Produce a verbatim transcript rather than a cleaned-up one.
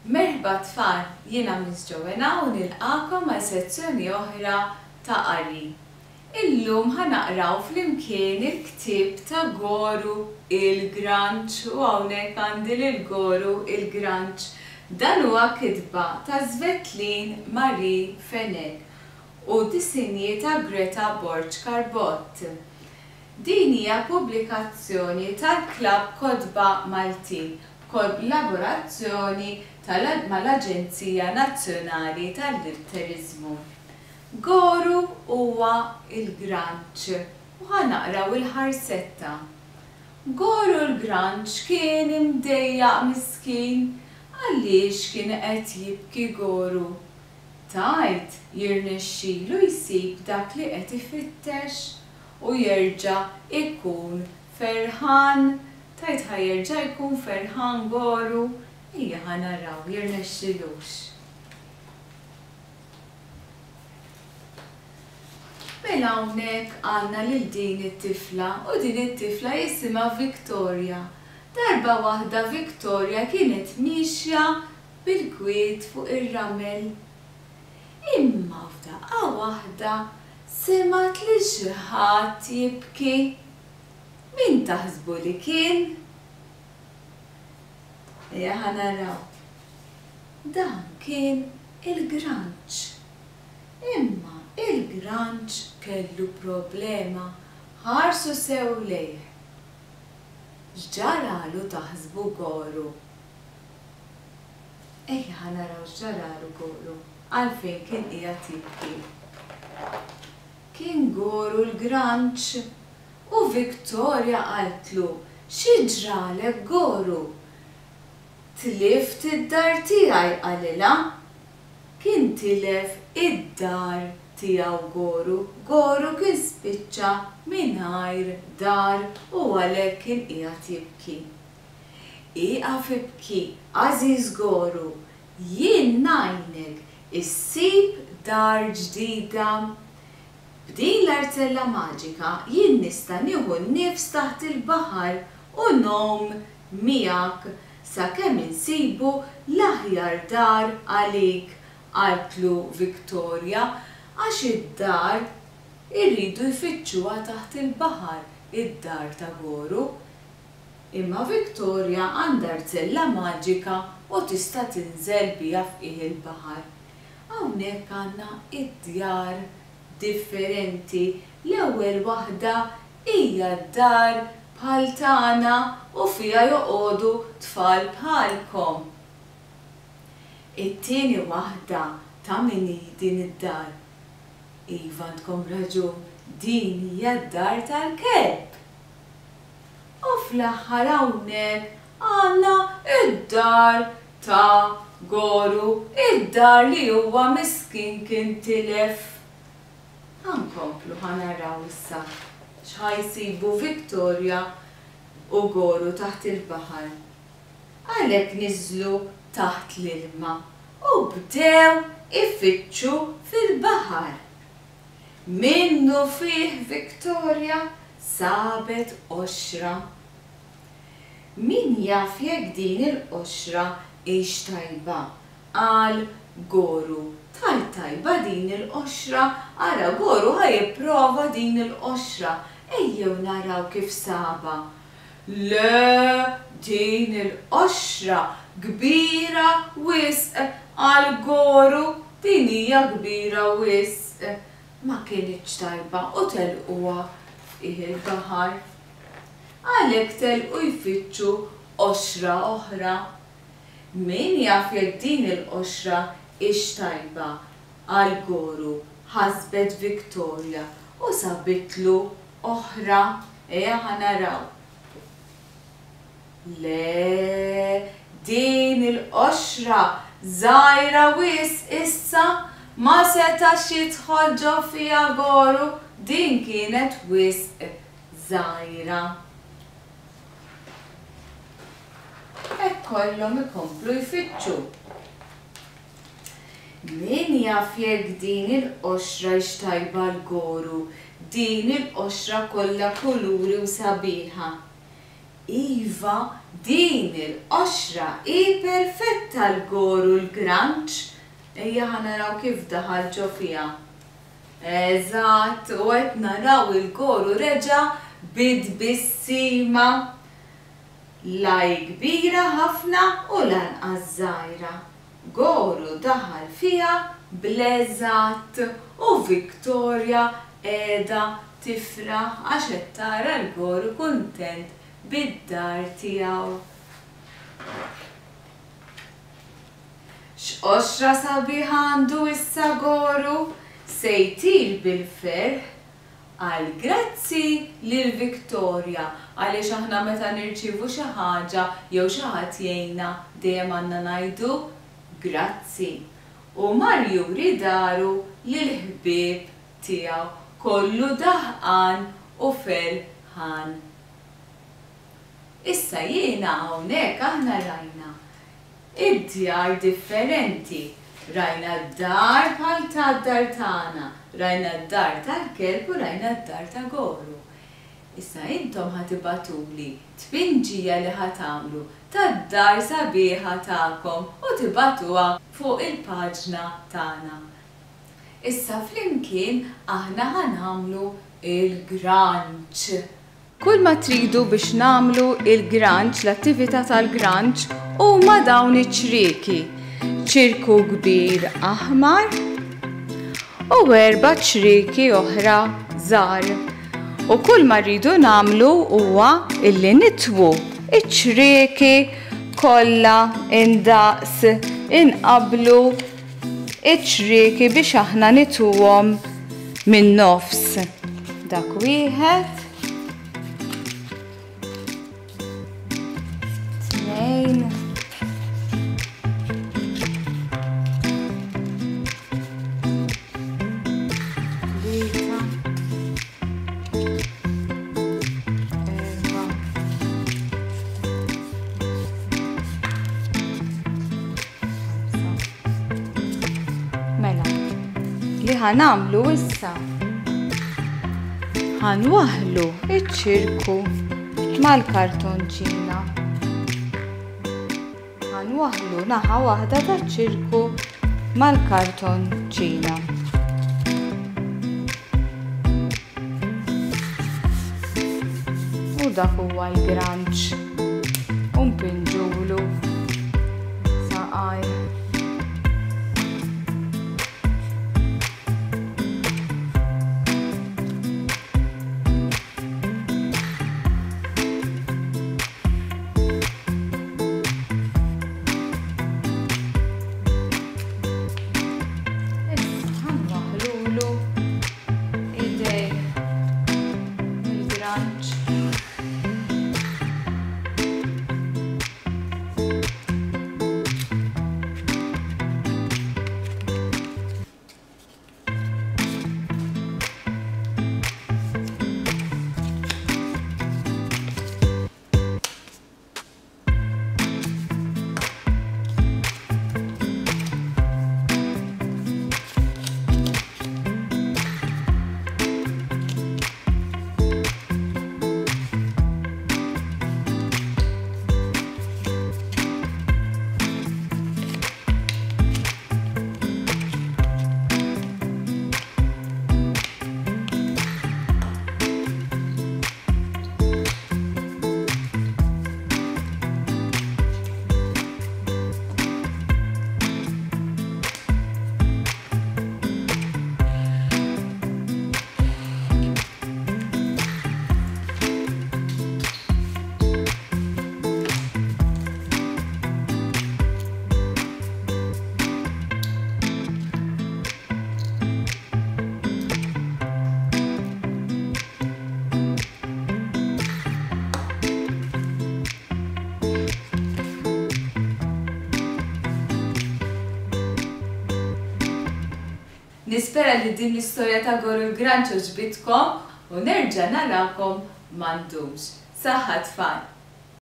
Merħba tfal, jiena Miss Joanna u nilqakom għal sezzjoni oħra ta' qari. Illum ħa naqraw flimkien il-ktieb ta' Goru il-Granċ u hawnhekk għandi lil Goru il-Granċ. Dan huwa kitba ta' Svetlin Marie Fenech u disinji ta' Greta Borg Carbott. Din hija pubblikazzjoni tal-Klabb Kotba Maltin b'kollaborazzjoni mal-Aġenzija Nazzjonali tal-Litteriżmu. Goru huwa il-Granċ u ħa naqraw il-ħarsetta. Goru l-Granċ kien imdejjaq miskin għaliex kien qed jibki Goru. Tgħid jirnexxilu jsib dak li qed ifittex u jerġa' ikun ferħan. Tgħid ħa jerġa' jkun ferħan Goru? Ejja ħa naraw jirnexxilux. Mela hawnhekk għandna lil din it-tifla u din it-tifla jisimha Victoria. Darba waħda Victoria kienet miexja bil-kwiet fuq ir-ramel. Imma f'daqqa waħda semgħet li xi ħadd jibki. Min taħsbu li kien? Ejja ħa naraw. Dan kien il-Granċ. Imma il-Granċ kellu problema, ħarsu sew lejh. X'ġaralu taħsbu Goru? Ejja ħa naraw x'ġaralu Goru, għalfejn kien qiegħed jibki. Kien Goru l-Granċ u Victoria qaltlu, xi ġralek Goru? Tlift id-dar tiegħi, qalilha. Kien tilef id-dar tiegħu Goru. Goru kien spiċċa mingħajr dar u għalhekk kien qiegħed jibki. Ieqaf ibki, għażiż Goru, jien ngħinek issib dar ġdida. B'din l-arzella maġika jien nista' nieħu n-nifs taħt il-baħar u ngħum miegħek sakemm insibu l-aħjar dar għalik, qaltlu Victoria, għax id-dar irridu jfittxuha taħt il-baħar, id-dar ta' Goru. Imma Victoria għandha arzella maġika u tista' tinżel biha f'qiegħ il-baħar. Hawnhekk għandna id-djar differenti. L-ewwel waħda hija d-dar bħal tagħna u fiha joqogħdu tfal bħalkom. It-tieni waħda ta' min hi din id-dar? Iva, għandkom raġun, din hija d-dar tal-kelb. U fl-aħħar hawnhekk għandna id-dar ta' Goru, id-dar li huwa miskin kien tilef. Ħa nkomplu ħa naraw issa x'ħa jsibu Victoria u Goru taħt il-baħar. Għalhekk niżlu taħt l-ilma u bdew ifittxu fil-baħar. Minnu fih Victoria sabet qoxra. Min jaf jekk din il-qoxra hix tajba, qal Goru. Tajt tajba din il-qoxra, ara Goru ħa jipprova din il-qoxra. Ejjew naraw kif saba. Le, din il-qoxra kbira wisq, qal Goru, din hija kbira wisq. Ma kinitx tajba u telquha f'qiegħ il-baħar. Għalhekk telqu jfittxu qoxra oħra. Min jaf jekk din il-qoxra hix tajba, qal Goru, ħasbet Victoria u sabitlu oħra. Ejja ħa naraw. Le, din il-qoxra żgħira wisq issa, ma setax jidħol ġo fiha Goru, din kienet wisq żgħira. Hekk kollhom ikomplu jfittxu. Min jaf jekk din il-qoxra hix tajba għal Goru, din il-qoxra kollha kuluri u sabiħa. Iva, Din il-qoxra hi perfetta għal Goru l-Granċ. Ejja ħa naraw kif daħal ġo fiha. Eżatt, u qed naraw il-Goru reġa' bit-tbissima. La hi kbira ħafna u lanqas żgħira. Goru daħal fiha bl-eżatt u Victoria qiegħda tifraħ għax qed tara l-Goru kuntent bid-dar tiegħu. X'qoxra sabiħa għandu issa Goru, se jtir bil-ferħ. Għal grazzi lil Victoria, għaliex aħna meta nirċievu xi ħaġa jew xi ħadd jgħinna dejjem għandna ngħidu grazzi. U mar juri daru lil ħbieb tiegħu kollu daħqan u ferħan. Issa jiena hawnhekk aħna rajna id-djar differenti. Rajna d-dar bħal tad-dar tagħna, rajna d-dar tal-kelb u rajna d-dar ta' Goru. Issa intom ħa tibagħtuli tpinġija li ħa tagħmlu tad-dar sabiħa tagħkom u tibagħtuha fuq il-paġna tagħna. Issa flimkien aħna ħa nagħmlu il-granċ. Kull ma tridu biex nagħmlu il-granċ, l-attività tal-granċ, huma dawn iċ-ċrieki. Ċirku kbir aħmar u erba' ċrieki oħra żgħar. U kull ma rridu nagħmlu huwa illi nitwu iċ-ċrieki kollha indaqs, inqablu iċ-ċrieki biex aħna nitwuhom min-nofs. Dak wieħed, tnejn, tlieta, erba', ħamsa. Mela, li ħa nagħmlu issa ħa nwaħħlu iċ-ċirku mal-kartonċina. Ħa nwaħħlu naħa waħda taċ-ċirku mal-kartonċina. U dak huwa l-granċ. U npinġulu saqajh. Nispera li din l-istorja ta' Goru l-Granċ għoġbitkom u nerġa' narakom m'għandux. Saħħa tfal!